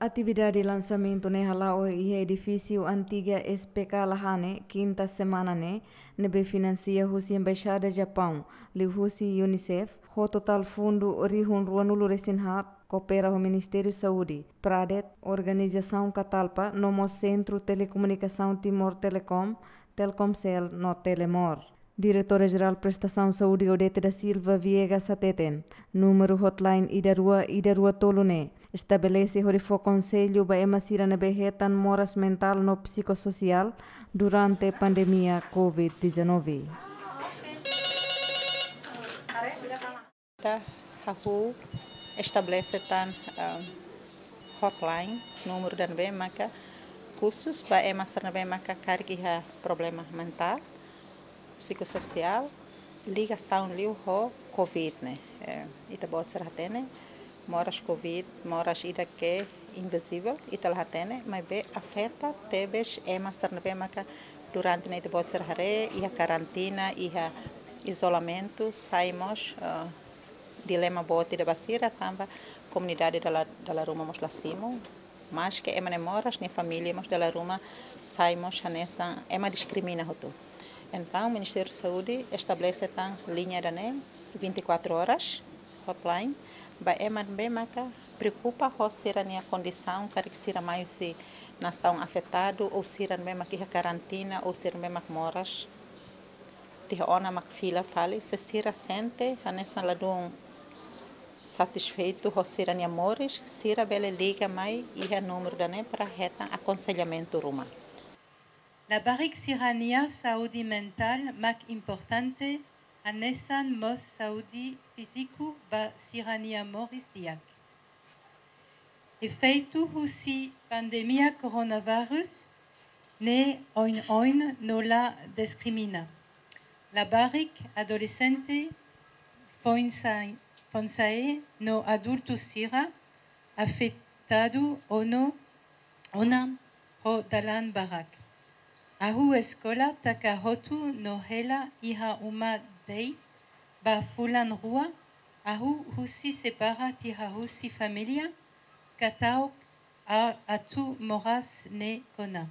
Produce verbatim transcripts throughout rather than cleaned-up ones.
Atividade lansamentu ne'e hala'o iha edifísiu antiga S P K Lahane, kinta semana ne'e, ne'ebé finansia husi Embaixada Japaun, liuhusi UNICEF, ho totál fundu rihun ruanulu resin haat, koopera ho Ministériu Saúde, Pradet, Organizasaun Catalpa, no mós Sentru Telekomunikasaun Timor Telecom, Telkomcel no Telemor. Diretora Jerál Prestasaun Saúde Odete da Silva Viegas hateten, númeru hotline ida rua ida rua tolu ne'e estabelese hodi fó konsellu ba ema sira ne'ebé hetan moras mentál no psikososiál durante pandemia covid dezanove. Ita hahú estabelese tan, ah, hotline, númeru ida ne'ebé maka khusus ba ema sira ne'ebé maka karik iha problema mentál, psikososiál, ligasaun liu ho covid ne'e. Eh, ita-boot sira hatene, moras covid, moras ida ke invizivel, ita la hatene, maibé afeta tebes ema sira ne'ebé maka durante ne'e ita-boot sira haree, iha karantina, iha izolamentu, sai mós, eh, dilema boot ida ba sira, tanba komunidade dala, dala ruma mós la simu, maske ema ne'e moras, nia família mós dala ruma sai mós hanesan ema diskrimina hotu. Entaun, Ministériu Saúde estabelese tan liña ida ne'e vinte e quatro horas, hotline, ba ema ne'ebé maka preokupa ho sira-nia kondisaun, karik sira mai husi nasaun afetadu, ou sira ne'ebé maka iha karantina, ou sira ne'ebé maka moras tiha ona mak fila fali, se sira sente hanesan ladún satisfeitu ho sira-nia moris, sira bele liga mai iha númeru ida ne'e para hetan akonsellamentu ruma. Labarik sira-nia saúde mentál mak importante, hanesan mós saúde fíziku ba sira-nia moris di'ak. Efeitu husi pandemia coronavírus ne'e oin-oin no la diskrimina. Labarik adolexente, foin-sa-, foin-sa'e no adultu sira afetadu ona, ona ho dalan barak. Hahú eskola taka hotu no hela iha uma de'it ba fulan rua, hahú husi separa tiha husi família, katauk a-, atu moras ne'e kona.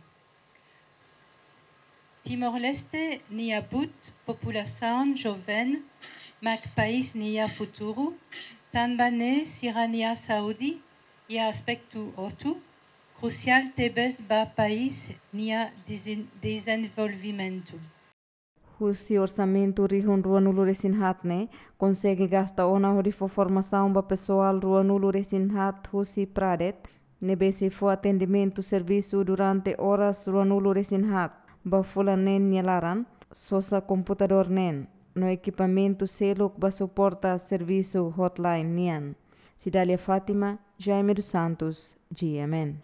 Timor-Leste nia buat populasaun joven mak país nia futuru, tanba ne'e sira-nia saúde iha aspetu hotu krusiál tebes ba país nia dezen-, dezenvolvimentu. Husi orsamentu rihun ruanulu resin haat ne'e, konsege gasta ona hodi fó formasaun ba pesoál ruanulu resin haat husi Pradet, ne'ebé sei fó atendimentu servisu durante oras ruanulu resin haat ba fulan neen nia laran, sosa komputadór neen, no ekipamentu seluk ba suporta servisu hotline nian. Cidália Fátima, Jaime dos Santos, G M N.